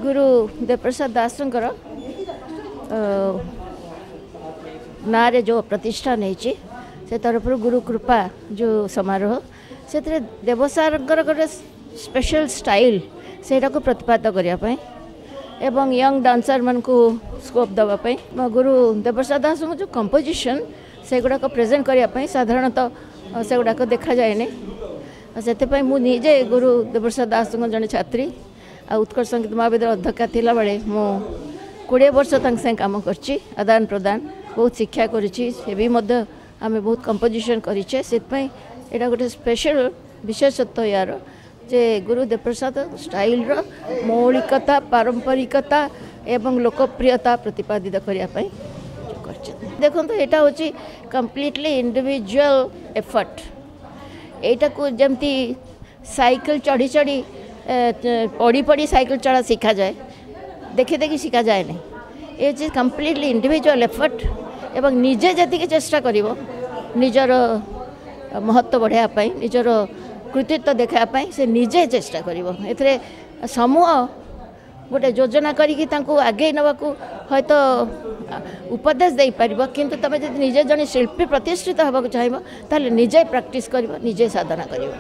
ଗୁରୁ ଦେବପ୍ରସାଦ ଦାସଙ୍କର ନାଁରେ ଯେଉଁ ପ୍ରତିଷ୍ଠାନ ହେଇଛି, ସେ ତରଫରୁ ଗୁରୁ କୃପା ଯେଉଁ ସମାରୋହ, ସେଥିରେ ଦେବସାରଙ୍କର ଗୋଟେ ସ୍ପେଶାଲ ଷ୍ଟାଇଲ୍, ସେଇଟାକୁ ପ୍ରତିପାଦ୍ୟ କରିବା ପାଇଁ ଏବଂ ୟଙ୍ଗ ଡାନ୍ସରମାନଙ୍କୁ ସ୍କୋପ୍ ଦେବା ପାଇଁ, ଗୁରୁ ଦେବପ୍ରସାଦ ଦାସଙ୍କ ଯେଉଁ କମ୍ପୋଜିସନ୍ ସେଗୁଡ଼ାକ ପ୍ରେଜେଣ୍ଟ କରିବା ପାଇଁ, ସାଧାରଣତଃ ସେଗୁଡ଼ାକ ଦେଖାଯାଏନି। ସେଥିପାଇଁ ମୁଁ ନିଜେ ଗୁରୁ ଦେବପ୍ରସାଦ ଦାସଙ୍କ ଜଣେ ଛାତ୍ରୀ ଆଉ ଉତ୍କଳ ସଙ୍ଗୀତ ମହାବିଦ୍ୟାଳୟ ଅଧ୍ୟକ୍ଷା ଥିଲାବେଳେ ମୁଁ 20 ବର୍ଷ ତାଙ୍କ ସାଙ୍ଗେ କାମ କରିଛି, ଆଦାନ ପ୍ରଦାନ ବହୁତ ଶିକ୍ଷା କରିଛି। ସେ ବି ମଧ୍ୟ ଆମେ ବହୁତ କମ୍ପୋଜିସନ୍ କରିଛେ। ସେଥିପାଇଁ ଏଇଟା ଗୋଟେ ସ୍ପେଶାଲ ବିଶେଷତ୍ୱ ୟାର ଯେ ଗୁରୁ ଦେବପ୍ରସାଦ ଷ୍ଟାଇଲ୍ର ମୌଳିକତା, ପାରମ୍ପରିକତା ଏବଂ ଲୋକପ୍ରିୟତା ପ୍ରତିପାଦିତ କରିବା ପାଇଁ କରିଛନ୍ତି। ଦେଖନ୍ତୁ, ଏଇଟା ହେଉଛି କମ୍ପ୍ଲିଟଲି ଇଣ୍ଡିଭିଜୁଆଲ ଏଫର୍ଟ। ଏଇଟାକୁ ଯେମିତି ସାଇକେଲ ଚଢ଼ି ଚଢ଼ି, ପଡ଼ି ପଡ଼ି ସାଇକେଲ ଚଢ଼ା ଶିଖାଯାଏ, ଦେଖି ଦେଖି ଶିଖାଯାଏନି। ଏ ହେଉଛି କମ୍ପ୍ଲିଟଲି ଇଣ୍ଡିଭିଜୁଆଲ ଏଫର୍ଟ ଏବଂ ନିଜେ ଯେତିକି ଚେଷ୍ଟା କରିବ ନିଜର ମହତ୍ତ୍ୱ ବଢ଼ାଇବା ପାଇଁ, ନିଜର କୃତିତ୍ୱ ଦେଖାଇବା ପାଇଁ, ସେ ନିଜେ ଚେଷ୍ଟା କରିବ। ଏଥିରେ ସମୂହ ଗୋଟେ ଯୋଜନା କରିକି ତାଙ୍କୁ ଆଗେଇ ନେବାକୁ ହୁଏତ ଉପଦେଶ ଦେଇପାରିବ, କିନ୍ତୁ ତୁମେ ଯଦି ନିଜେ ଜଣେ ଶିଳ୍ପୀ ପ୍ରତିଷ୍ଠିତ ହେବାକୁ ଚାହିଁବ, ତାହେଲେ ନିଜେ ପ୍ରାକ୍ଟିସ୍ କରିବ, ନିଜେ ସାଧନା କରିବ।